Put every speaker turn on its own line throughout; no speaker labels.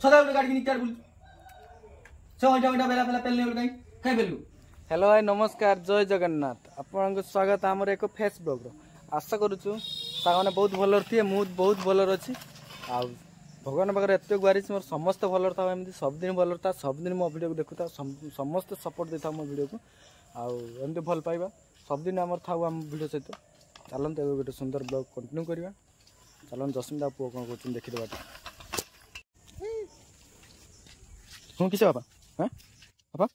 ସଦାବେଳେ ଗାଡ଼ି କିଣି ଚାର ବୁଲୁ ସେ ଅଇଁଠା ଅଇଁଠା ବେଲା ଫେଲା ପେଲି କାଇଁ କାଇଁ ପେଲୁ।
ହ୍ୟାଲୋ ଭାଇ, ନମସ୍କାର, ଜୟ ଜଗନ୍ନାଥ। ଆପଣଙ୍କୁ ସ୍ୱାଗତ ଆମର ଏକ ଫେସ୍ ବ୍ଲଗ୍ର। ଆଶା କରୁଛୁ ସାଙ୍ଗମାନେ ବହୁତ ଭଲରେ ଥିବେ। ମୁଁ ବହୁତ ଭଲରେ ଅଛି ଆଉ ଭଗବାନ ପାଖରେ ଏତେ ଗୁହାରିଛି ମୋର ସମସ୍ତେ ଭଲରେ ଥାଉ, ଏମିତି ସବୁଦିନ ଭଲରେ ଥାଉ, ସବୁଦିନ ମୋ ଭିଡ଼ିଓକୁ ଦେଖୁଥାଉ, ସମସ୍ତେ ସପୋର୍ଟ ଦେଇଥାଉ ମୋ ଭିଡ଼ିଓକୁ ଆଉ ଏମିତି ଭଲ ପାଇବା ସବୁଦିନ ଆମର ଥାଉ ଆମ ଭିଡ଼ିଓ ସହିତ। ଚାଲନ୍ତୁ ଏବେ ଗୋଟେ ସୁନ୍ଦର ବ୍ଲଗ୍ କଣ୍ଟିନ୍ୟୁ କରିବା। ଚାଲନ୍ତୁ ଜସ୍ମିତା ପୁଅ କ'ଣ କରୁଛନ୍ତି ଦେଖିଦେବା ଟିକେ। ହଁ କିସ ବାପା? ହଁ ବାପା,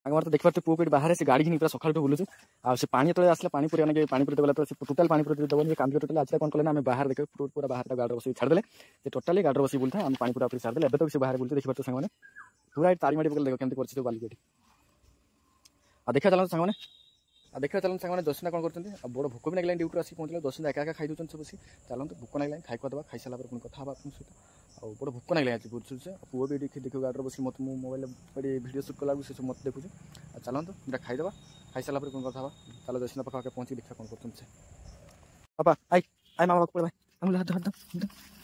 ସାଙ୍ଗମାନେ ତ ଦେଖିପାରୁଥିବେ ପୁଅକୁ ଏଠି ବାହାରେ ସେ ଗାଡ଼ି ଘିନି ପୁରା ସକାଳୁଠୁ ବୁଲୁଛୁ। ଆଉ ସେ ପାଣି ଯେତେବେଳେ ଆସିଲା ପାଣି ପୁରୀ ଆଣିକି ପାଣି ପୁରୀ ଗଲା ତ ସେ ଟୋଟାଲ ପାଣି ପୁରୀ ଦେବନି, କାନ୍ଦିବ ଟୋଟାଲି। ଆଜି କ'ଣ କଲେ ନା ଆମେ ବାହାରେ ଦେଖିବ ପୁରା ବାହାରେ ତାକୁ ଗାଡ଼ିରେ ବସିକି ଛାଡ଼ିଦେଲେ। ସେ ଟୋଟାଲି ଗାଡ଼ିରେ ବସିକି ବୁଲୁଥାଏ, ଆମେ ପାଣି ପୁରା ପୁରୀ ଛାଡ଼ିଦେଲେ। ଏବେ ତ ସେ ବାହାରେ ବୁଲୁଛି, ଦେଖିପାରୁଥିବେ ସାଙ୍ଗମାନେ। ପୁରା ଏଠି ତାରି ମାଡ଼ି ପକେଇଲେ, ଦେଖ କେମିତି କରିଛି ସବୁ ବାଲିକି ଏଠି। ଆଉ ଦେଖିବା ଚାଲନ୍ତୁ ସାଙ୍ଗମାନେ, ଆଉ ଦେଖିବା ଚାଲନ୍ତୁ ସାଙ୍ଗମାନେ ଜସିନା କ'ଣ କରୁଛନ୍ତି। ଆଉ ବଡ଼ ଭୋକ ବି ଲାଗିଲାଣି, ଡ୍ୟୁଟିରୁ ଆସିକି ପହଞ୍ଚିଲେ। ଜସିନା ଏକା ଏକା ଖାଇ ଦେଉଛନ୍ତି ସବୁ ବସି। ଚାଲନ୍ତୁ, ଭୋକ ଲାଗିଲାଣି, ଖାଇ ଦେବା, ଖାଇସାରିଲା ପରେ ପୁଣି କଥା ହେବା ଆପଣଙ୍କ ସହିତ। ଆଉ ବଡ଼ ଭୋକ ଲାଗିଲାଣି ଆଜି ବୁଝୁଛି। ଆଉ ପୁଅ ବି ଏଠି ଦେଖିବ ଗାଡ଼ିରେ ବସି ମୋତେ, ମୁଁ ମୋବାଇଲ ଏଠି ଭିଡ଼ିଓ ସୁଟ୍ କଲାବେଳକୁ ସେ ସବୁ ମୋତେ ଦେଖୁଛି। ଆଉ ଚାଲନ୍ତୁ ଦୁଇଟା ଖାଇଦେବା, ଖାଇସାରିଲା ପରେ ପୁଣି କଥା ହେବା। ଚାଲ ଜସିନା ପାଖାପାଖି ପହଞ୍ଚିକି ଦେଖିବା କ'ଣ କରୁଛନ୍ତି ସେ। ବାପା I I ମାମା ପାଖକୁ ପଳେଇ ଆଙ୍ଗୁଳି ହାତ ହାତ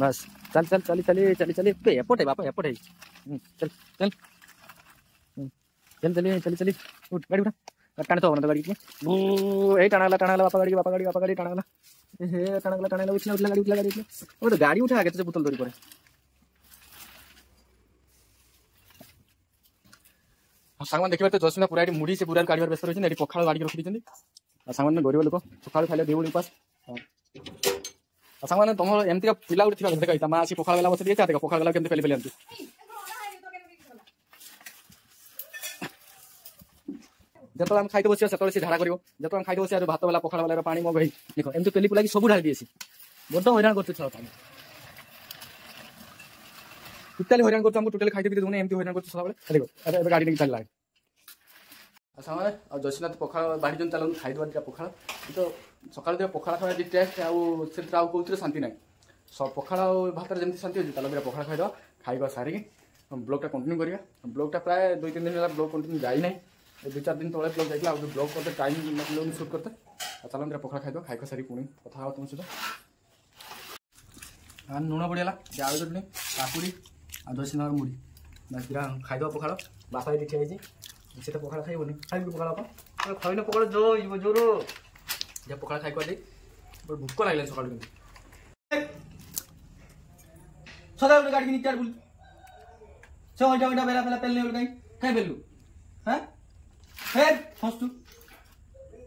ବାସ୍, ଚାଲ ଚାଲ ଚାଲି ଚାଲି ଚାଲି ଚାଲି ଏପଟେ ବାପା ଏପଟେ, ଚାଲ ଚାଲ ଚାଲି ଚାଲି ଚାଲି ଚାଲି, ଉଠ ଗାଡ଼ି ଉଠା, ଟାଣି ତ ହବନା ତ ଗାଡ଼ି। ଏଇ ଟାଣା ହେଲା, ଟାଣା ହେଲା ବାପା ଗାଡ଼ି, ବାପା ଗାଡ଼ି, ବାପା ଗାଡ଼ି ଟାଣା ହେଲା। ହେ ଟାଣା ଗଲା, ଟାଣା ହେଲା, ଉଠିଲା ଉଠିଲା ଗାଡ଼ି, ଉଠିଲା ଗାଡ଼ି, ଉଠିଲା। ଗୋଟେ ଗାଡ଼ି ଉଠା ଆଗେ, ତ ବୋତଲ ଧରି ପରେ। ସାଙ୍ଗମାନେ ଦେଖିପାରୁଥିବେ ଜସ୍ମିନା ପୁରା ଏଠି ମୁଢ଼ି ସେ ପୁରା କାଢ଼ିବାର ବ୍ୟସ୍ତ ରହିଛନ୍ତି। ଏଠି ପଖାଳ ବାଡ଼ିକି ରଖିଦେଇଛନ୍ତି। ଆଉ ସାଙ୍ଗମାନେ, ଗରିବ ଲୋକ ସକାଳୁ ଖାଇଲେ ଦୁଇ ଓଳି ଉପାସ। ଆଉ ସାଙ୍ଗମାନେ, ତମର ଏମିତିକା ପିଲା ଗୋଟେ ଥିବା ଦେଖ, ତା ମା ଆସି ପଖାଳ ବେଲା ବସି ଦେଇଛି। ଦେଖ ପଖାଳ ବେଲା କେମିତି ପେଲି ପେଲି ଆଣୁଛି। ଯେତେବେଳେ ଆମେ ଖାଇତେ ବସିବା ସେତେବେଳେ ସେ ଝାଡ଼ା କରିବ। ଯେତେବେଳେ ଆମେ ଖାଇତେ ବସିବା ଭାତ ବେଲା ପଖାଳ ବେଲାର ପାଣି ମଗ ହେଇ ଦେଖ ଏମିତି ପେଲି ପୁଲାକି ସବୁ ଢାଳି ଦିଏ। ବଡ଼ ହଇରାଣ କରୁଛୁ ଛୁଆ, ଟୋଟାଲି ହଇରାଣ କରୁଛୁ ଆମକୁ। ଟୋଟାଲି ଖାଇତେ ପିଇତେ ଦଉନି, ଏମିତି ହଇରାଣ କରୁଛୁ ସଦାବେଳେ। ଦେଖ ଏବେ ଏବେ ଗାଡ଼ି ନେଇକି ଚାଲିଲା। ଆଉ ସାଙ୍ଗମାନେ, ଆଉ ଜସିନାଥ ପଖାଳ ବାଢ଼ିଛନ୍ତି, ଚାଲନ୍ତୁ ଖାଇଦେବା ଦୁଇଟା ପଖାଳ। ତ ସକାଳୁ ଦୁଇଟା ପଖାଳ ଖାଇବା ଯେ ଟେଷ୍ଟ, ଆଉ ସେଥିରେ ଆଉ କେଉଁଥିରେ ଶାନ୍ତି ନାହିଁ। ପଖାଳ ଆଉ ଭାତରେ ଯେମିତି ଶାନ୍ତି ଅଛି। ଚାଲ ଦୁଇଟା ପଖାଳ ଖାଇଦେବା, ଖାଇବା ସାରିକି ବ୍ଲଗ୍ଟା କଣ୍ଟିନ୍ୟୁ କରିବା। ବ୍ଲଗ୍ଟା ପ୍ରାୟ 2-3 ଦିନ ହେଲା ବ୍ଲଗ୍ କଣ୍ଟିନ୍ୟୁ ଯାଇନାହିଁ। 2-4 ଦିନ ତଳେ ବ୍ଲଗ୍ ଯାଇଥିଲା, ଆଉ ବ୍ଲଗ୍ କରତେ ଟାଇମ୍ ମିଳୁନି ସୁଟ୍ କରତେ। ଆଉ ଚାଲନ୍ତୁ ଦୁଇଟା ପଖାଳ ଖାଇଦେବା, ଖାଇବା ସାରିକି ପୁଣି କଥା ହେବା ତୁମ ସହିତ। ଲୁଣ ପଡ଼ିଗଲା, ଆଳୁ ଚଟଣି, କାକୁଡ଼ି ଆଉ ଦଶିନାର ମୁଢ଼ି, ବାସ୍ ଦୁଇଟା ଖାଇଦେବା ପଖାଳ। ବାପା ଏଠି ଠିଆ ହେଇଛି, ସେ ତ ପଖାଳ ଖାଇବନି। ଖାଇବି ପଖାଳ ବାପା? ଖାଇଲେ ପଖାଳ ଜୋର ହେଇଯିବ, ଜୋର। ଯା ପଖାଳ ଖାଇ ଦେଇ, ଭୋକ ଲାଗିଲାଣି ସକାଳୁ। କିନ୍ତୁ
ସଦାବେଳେ ଗାଡ଼ି କିଣି ଚାର ବୁଲୁ ସେ ଅଇଁଠା ଅଇଁଠା ବେଲା ଫେଲା ପେଲି କାଇଁ କାଇଁ ପେଲୁ? ହଁ ହେ ହସୁ,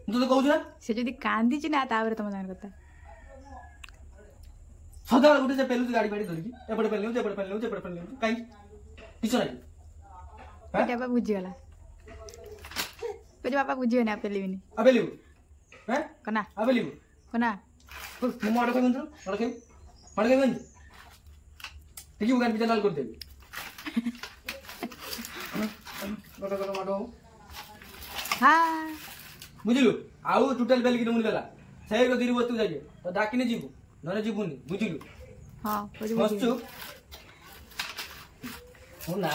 ମୁଁ ତୋତେ କହୁଛି ନା।
ସେ ଯଦି କାନ୍ଦିଛି ନା ତାପରେ ତମ ସାଙ୍ଗରେ କଥା।
ସଦାବେଳେ ଗୋଟେ ସେ ପେଲୁଛି ଗାଡ଼ି ଫାଡ଼ି ଧରିକି, ଏପଟେ ପେଲି ନେଉଛି, ଏପଟେ ପେଲି ନେଉଛି, ଏପଟେ ପେଲି ନେଉଛି, କାଇଁ କିଛି ନାହିଁ।
ବାପା ବୁଝିଗଲା, କହୁଛି ବାପା ବୁଝିବେନି, ଆଉ ପେଲିବିନି।
ଆଉ ପେଲିବୁ? ହେଁ
କନା,
ଆଉ ପେଲିବୁ
କନା?
ମୁଁ ମାଡ଼ ଖାଇବି, ମାଡ଼ ଖାଇବି, ମାଡ଼ ଖାଇବିନି। ଦେଖିବୁ ଗାଡ଼ି ପିଛା ଲାଲ କରିଦେବି। ବୁଝିଲୁ? ଆଉ ଟୋଟାଲ ବେଲିକି ଦେବୁନି ବେଲା, ସେଇ ଗଦିରୁ ବସ୍ତୁ ଯାଇକି ତ ଡାକିନେ ଯିବୁ, ନହେଲେ ଯିବୁନି, ବୁଝିଲୁ? ବସଛୁ ନା।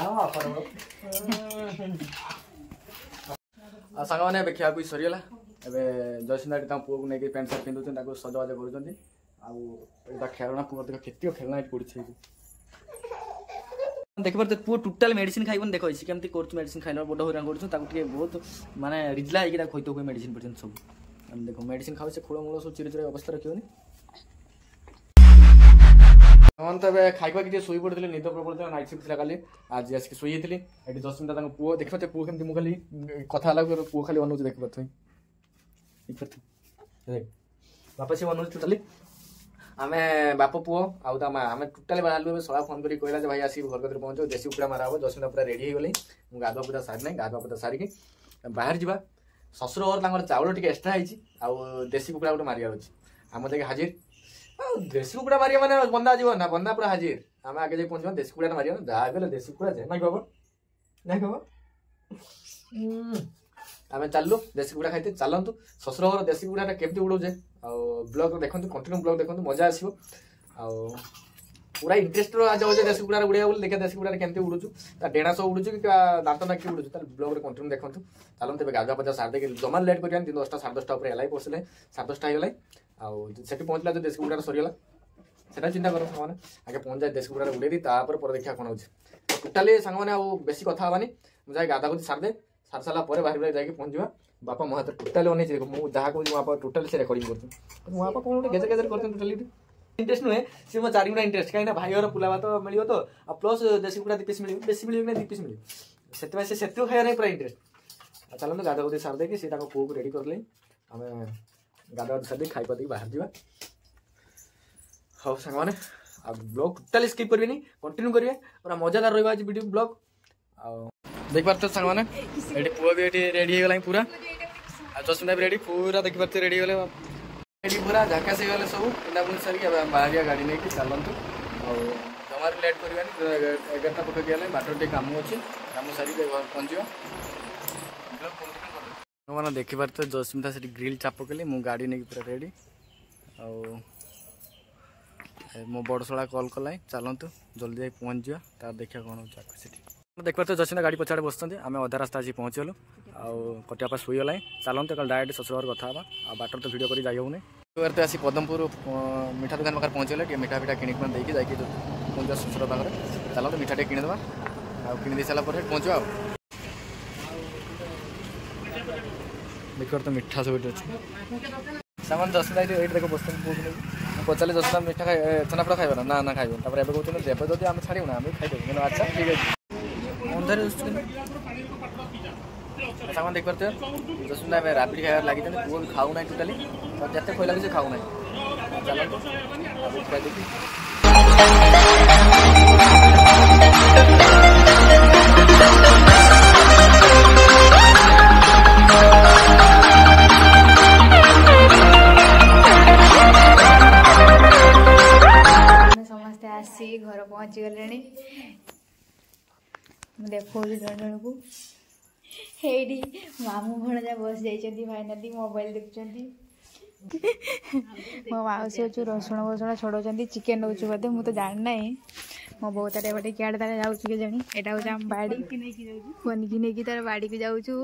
ଆଉ ସାଙ୍ଗମାନେ, ଏବେ ଖିଆଖୁଇ ସରିଗଲା। ଏବେ ଜୟସିଂହ ତାଙ୍କ ପୁଅକୁ ନେଇକି ପ୍ୟାଣ୍ଟ ସାର୍ଟ ପିନ୍ଧୁଛନ୍ତି, ତାକୁ ସଜବାଜ କରୁଛନ୍ତି। ଆଉ ଏଇଟା ଖେଳଣା ପୁଅ ଦେଖ, କେତିକ ଖେଳଣା ଏଠି ପଡ଼ିଛି। ଏଇଠି ଦେଖିପାରୁଥିବେ ପୁଅ ଟୋଟାଲ ମେଡ଼ିସିନ ଖାଇବନି। ଦେଖ ସେ କେମିତି କରୁଛୁ, ମେଡ଼ିସିନ ଖାଇଲା ବଡ଼ ହଇରାଣ କରୁଛୁ ତାକୁ। ଟିକେ ବହୁତ ମାନେ ରିଜଲା ହେଇକି ତାକୁ ଖୋଇତେ ହୁଏ ମେଡ଼ିସିନ ପର୍ଯ୍ୟନ୍ତ ସବୁ। ଦେଖ ମେଡ଼ିସିନ ଖାଉଛି, ସେ ଖୋଳ ମୂଳ ସବୁ ଚିରି ଚିରି ଅବସ୍ଥା ରଖିବନି। ହଁ ତ ଏବେ ଖାଇବା ଟିକେ ଶୋଇ ପଡ଼ିଥିଲି, ନିଦ ପ୍ରବଳ ଥିଲା, ନାଇଟ୍ ସିଫ୍ଟ ଥିଲା କାଲି, ଆଜି ଆସିକି ଶୋଇଯାଇଥିଲି। ଏଠି ଜସ୍ମିତା ତାଙ୍କ ପୁଅ ଦେଖିପାରୁଥିବେ, ପୁଅ କେମିତି, ମୁଁ ଖାଲି କଥା ହେଲା ପୁଅ ଖାଲି ଅନଉଛି, ଦେଖିପାରୁଥିବେ, ଦେଖିପାରୁଥିବେ ବାପା ସିଏ ଅନଉଛି ଟୋଟାଲି। ଆମେ ବାପ ପୁଅ ଆଉ ତା ମା ଆମେ ଟୋଟାଲି ବାହାରିଲୁ। ଏବେ ଶଳା ଫୋନ୍ କରିକି କହିଲା ଯେ ଭାଇ ଆସିକି ଘର କତିରେ ପହଞ୍ଚିବ, ଦେଶୀ କୁକୁଡ଼ା ମାରା ହବ। ଜସ୍ମିତା ପୁରା ରେଡ଼ି ହେଇଗଲି, ମୁଁ ଗାଧୁଆ ପୂଜା ସାରି ନାହିଁ, ଗାଧୁଆ ପୂଜା ସାରିକି ବାହାରି ଯିବା। ଶ୍ୱଶୁର ଘର ତାଙ୍କର ଚାଉଳ ଟିକେ ଏକ୍ସଟ୍ରା ହେଇଛି ଆଉ ଦେଶୀ କୁକୁଡ଼ା ଗୋଟେ ମାରିବାର ଅଛି। ଆମ ଯାଇକି ହାଜିର। ଆଉ ଦେଶୀ କୁକୁଡ଼ା ମାରିବା ମାନେ ବନ୍ଦା ଯିବ ନା, ବନ୍ଦା ପୁରା ହାଜିର। ଆମେ ଆଗେ ଯାଇ ପହଞ୍ଚିବା, ଦେଶୀ କୁକୁଡ଼ା ମାରିବା ଯାହା ବି ହେଲେ। ଦେଶୀ କୁକୁଡ଼ା ଯେ ନାଇଁ ବାବା, ନାଇଁ ବାବା, ଆମେ ଚାଲିଲୁ ଦେଶୀ କୁକୁଡ଼ା ଖାଇତେ। ଚାଲନ୍ତୁ ଶ୍ୱଶୁର ଘର ଦେଶୀ କୁକୁଡ଼ାଟା କେମିତି ଉଡ଼ଉଛେ ଆଉ ବ୍ଲଗ୍ ଦେଖନ୍ତୁ, କଣ୍ଟିନ୍ୟୁ ବ୍ଲଗ୍ ଦେଖନ୍ତୁ, ମଜା ଆସିବ। ଆଉ ପୁରା ଇଣ୍ଟରେଷ୍ଟ ଯାଉଛି ଦେଶୀ କୁକୁଡ଼ାରେ ଉଡ଼େଇବା ବୋଲି। ଦେଖିବା ଦେଶୀ କୁକୁଡ଼ାରେ କେମିତି ଉଡ଼ୁଛୁ, ତା ଡେଣା ସବୁ ଉଡ଼ୁଛୁ କି ଦାନ୍ତ ନାକି ଉଡ଼ୁଛୁ। ତାହେଲେ ବ୍ଲଗ୍ରେ କଣ୍ଟିନ୍ୟୁ ଦେଖନ୍ତୁ। ଚାଲନ୍ତୁ ଏବେ ଗାଧୁଆ ପାଧୁଆ ସାରି ଦେଇକି ଜମା ଲେଟ୍ କରିବାନି। 10ଟା 10:30 ଉପରେ ହେଲା, ପଶିଲେ 10:30 ହେଇଗଲା। ଆଉ ସେଠି ପହଞ୍ଚିଲା ଯଦି ଦେଶୀ କୁକୁଡ଼ାରେ ସରିଗଲା, ସେଟା ଚିନ୍ତା କର ସାଙ୍ଗମାନେ। ଆଗେ ପହଞ୍ଚି ଦେଶୀ କୁକୁଡ଼ାରେ ଉଡ଼େଇ ଦେଇ ତାପରେ ପରେ ଦେଖିବା କ'ଣ ହେଉଛି। ଟୋଟାଲି ସାଙ୍ଗମାନେ ଆଉ ବେଶୀ କଥା ହେବାନି। ମୁଁ ଯାଇ ଗାଧା ଗୁଧି ସାରିଦେ, ସାରି ସାରିଲା ପରେ ବାହାରି ବାହାରି ଯାଇକି ପହଞ୍ଚିବା। ବାପା ମୋ ହାତରେ ଟୋଟାଲି ଅନେଇଛି। ଦେଖ, ମୁଁ ଯାହା କହୁଛି ମୋ ବାପା ଟୋଟାଲି ସେ ରେକର୍ଡିଂ କରୁଛି। ମୋ ବାପା କ'ଣ ଗୋଟେ ଗେଜର ଗେଜର କରୁଛନ୍ତି। ଟୋଟାଲି ଇଣ୍ଟରେଷ୍ଟ ନୁହେଁ ସେ, ମୋ ଚାରିଗୁଣା ଇଣ୍ଟରେଷ୍ଟ। କାହିଁକିନା ଭାଇ ଘର ପୁଲା ଭାତ ମିଳିବ ତ, ଆଉ ପ୍ଲସ୍ ଦେଶୀ କୁକୁଡ଼ା 2 ପିସ୍ ମିଳିବ, ବେଶୀ ମିଳିବ ନା 2 ପିସ୍ ମିଳିବ, ସେଥିପାଇଁ ସେ ସେତିକି ଖାଇବା ନାହିଁ, ପୁରା ଇଣ୍ଟରେଷ୍ଟ। ଆଉ ଚାଲନ୍ତୁ ଗାଧା ଗୁଧି ସାରି ଦେଇକି ସେ ତାଙ୍କ ପୁଅକୁ ରେଡ଼ି କରିଲେ, ଆମେ ଗାଧା ଗୁଧି ସାରି ଦେଇକି ଖାଇ ଦେଇକି ବାହାରି ଯିବା। ହଉ ସାଙ୍ଗମାନେ, ଆଉ ବ୍ଲଗ୍ ଟୋଟାଲି ସ୍କିପ୍ କରିବେନି, କଣ୍ଟିନ୍ୟୁ କରିବେ, ପୁରା ମଜାଦାର ରହିବ ଆଜି ଭିଡ଼ିଓ ବ୍ଲଗ୍। ଆଉ ଦେଖିପାରୁଥିବେ ସାଙ୍ଗମାନେ, ଏଠି ପୁଅ ବି ଏଠି ରେଡ଼ି ହେଇଗଲାଣି ପୁରା, ଆଉ ଜସ୍ମିତା ବି ରେଡ଼ି ପୁରା। ଦେଖିପାରୁଥିବେ ରେଡ଼ି ହେଇଗଲେ ଏଠି ପୁରା ଝାକାସ ହେଇଗଲେ ସବୁ। ପିନ୍ଧା ପୁନ୍ଧି ସାରିକି ଏବେ ଆମେ ବାହାରିବା ଗାଡ଼ି ନେଇକି। ଚାଲନ୍ତୁ, ଆଉ ଜମାରୁ ଲେଟ୍ କରିବାନି। 11ଟା ପାଖାପାଖି ହେଲେ ବାଟରେ ଟିକେ କାମ ଅଛି, କାମ ସାରିକି ଘରେ ପହଞ୍ଚିବା। ମାନେ ଦେଖିପାରୁଥିବେ ଜସ୍ମିତା ସେଠି ଗ୍ରିଲ୍ ଚାପ କଲି, ମୁଁ ଗାଡ଼ି ନେଇକି ପୁରା ରେଡ଼ି। ଆଉ ମୋ ବଡ଼ ଶଳା କଲ୍ କଲାଣି, ଚାଲନ୍ତୁ ଜଲ୍ଦି ଯାଇ ପହଞ୍ଚିଯିବା, ତାର ଦେଖିବା କ'ଣ ହେଉଛି ଆଗକୁ ସେଠି। ଦେଖିପାରୁଥିବେ ଜସ୍ମିତା ଗାଡ଼ି ପଛଆଡ଼େ ବସିଛନ୍ତି। ଆମେ ଅଧା ରାସ୍ତା ଆସି ପହଞ୍ଚିଗଲୁ, ଆଉ କଟିଆପା ଶୋଇଗଲାଣି। ଚାଲନ୍ତୁ କାଲି ଡାଇରେକ୍ଟ ଶ୍ୱଶୁର ଘରେ କଥା ହେବା, ଆଉ ବାଟରେ ତ ଭିଡ଼ିଓ କରି ଯାଇ ହେଉନି। ତ ଆସି ପଦମପୁର ମିଠା ଦୋକାନ ପାଖରେ ପହଞ୍ଚିଗଲେ, ଟିକେ ମିଠା ଫିଠା କିଣିକି ଦେଇକି ଯାଇକି ପହଞ୍ଚିବା ଶ୍ୱଶୁର ପାଖରେ। ଚାଲନ୍ତୁ ମିଠା ଟିକେ କିଣିଦେବା, ଆଉ କିଣି ଦେଇ ସାରିଲା ପରେ ପହଞ୍ଚିବା। ଆଉ ଦେଖିବାର ତ ମିଠା ସବୁ ଏଠି ଅଛି ସାମାନ। ଜସ୍ମିତା ଏଇଠି ଏଇଠି ଦେଖ ବସିଛନ୍ତି ପୁଅକୁ ନେଇକି। ମୁଁ ପଚାରିଲି, ଜସ୍ମିତା ମିଠା ଖାଇ ଛେନାପୋଡ଼ ଖାଇବ ନା? ନା ନା, ଖାଇବ। ତାପରେ ଏବେ କହୁଛନ୍ତି ଦେବେ ଯଦି ଆମେ ଛାଡ଼ିବୁ ନା, ଆମେ ଖାଇଦେବୁ। କିନ୍ତୁ ଆଚ୍ଛା ଠିକ୍ ଅଛି, ଅନ୍ଧାରେ ସାମାନ ଦେଖିପାରୁଥିବେ ଜସ୍ମିତା ଏବେ ରାବିଡ଼ି ଖାଇବାରେ ଲାଗିଛନ୍ତି। ପୁଅ ବି ଖାଉନାହିଁ ଟୋଟାଲି, ଯେତେ ଖୋଇଲା ବି ସେ ଖାଉନାହିଁ। ଚାଲନ୍ତୁ ରାବିଡ଼ି ଖାଇଦେଇକି।
ଆମେ ସମସ୍ତେ ଆସି ଘର ପହଞ୍ଚିଗଲେଣି। ମୁଁ ଦେଖାଉଛି ଜଣ ଜଣକୁ। ଏଇଠି ମାମୁଁ ଭଣଜା ବସି ଯାଇଛନ୍ତି, ଫାଇନାଲି ମୋବାଇଲ ଦେଖୁଛନ୍ତି। ମୋ ମାଉସୀ ଅଛୁ ରସୁଣ ଫସୁଣ ଛଡ଼ଉଛନ୍ତି, ଚିକେନ୍ ନେଉଛୁ ବୋଧେ, ମୁଁ ତ ଜାଣିନାହିଁ। ମୋ ବୋଉ ତାର ଏପଟେ କିଆଡ଼େ ତାର ଯାଉଛି କେଜାଣି। ଏଇଟା ହେଉଛି ଆମ ବାଡ଼ି। ପନିକି ନେଇକି ତାର ବାଡ଼ିକୁ ଯାଉଛୁ,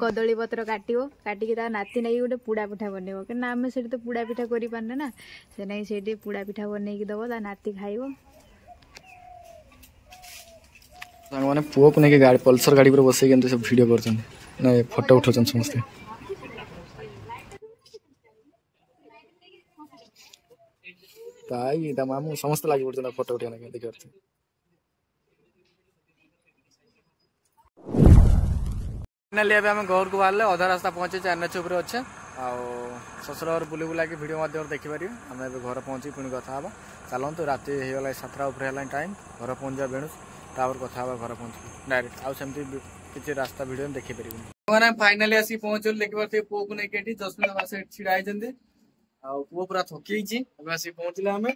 କଦଳୀ ପତ୍ର କାଟିବ, କାଟିକି ତା ନାତି ନେଇକି ଗୋଟେ ପୋଡ଼ା ପିଠା ବନେଇବ। କାହିଁକିନା ଆମେ ସେଠି ତ ପୋଡ଼ା ପିଠା କରିପାରୁନେ ନା, ସେ ନେଇ ସେଇଠି ପୋଡ଼ା ପିଠା ବନେଇକି ଦେବ, ତା ନାତି ଖାଇବ।
ସାଙ୍ଗମାନେ ପୁଅକୁ ନେଇକି ଗାଡ଼ି ପଲସର ଗାଡ଼ି ଉପରେ ବସେଇକି ଏମିତି ସବୁ ଭିଡ଼ିଓ କରୁଛନ୍ତି ନା ଫଟୋ ଉଠାଉଛନ୍ତି ସମସ୍ତେ। ତାଇ ତା ମାମୁଁ ସମସ୍ତେ ଲାଗି ପଡୁଛନ୍ତି ଫଟୋ ଉଠେଇବା ଲାଗି। ଦେଖିପାରୁଛନ୍ତି ଫାଇନାଲି ଏବେ ଆମେ ଘରକୁ ବାହାରିଲେ, ଅଧା ରାସ୍ତା ପହଞ୍ଚିଛୁ, ଏନ୍ଏଚ୍ ଉପରେ ଅଛେ। ଆଉ ଶ୍ୱଶୁର ଘର ବୁଲି ବୁଲାକି ଭିଡ଼ିଓ ମାଧ୍ୟମରେ ଦେଖିପାରିବେ। ଆମେ ଏବେ ଘରେ ପହଞ୍ଚିକି ପୁଣି କଥା ହେବା। ଚାଲନ୍ତୁ, ରାତି ହେଇଗଲା, 7ଟା ଉପରେ ହେଲାଣି ଟାଇମ୍। ଘରେ ପହଞ୍ଚିବା ବେଣୁ, ତାପରେ କଥା ହେବା ଘରେ ପହଞ୍ଚିକି ଡାଇରେକ୍ଟ। ଆଉ ସେମିତି କିଛି ରାସ୍ତା ଭିଡ଼ିଓ ଦେଖିପାରିବେନି। ମାନେ ଫାଇନାଲି ଆସିକି ପହଞ୍ଚିଗଲୁ। ଦେଖିପାରୁଥିବେ ପୁଅକୁ ନେଇକି ଏଠି ଜସ୍ମିତା ବାସ ଏଠି ଛିଡ଼ା ହେଇଛନ୍ତି, ଆଉ ପୁଅ ପୁରା ଥକି ଯାଇଛି। ଏବେ ଆସିକି ପହଞ୍ଚିଲେ ଆମେ।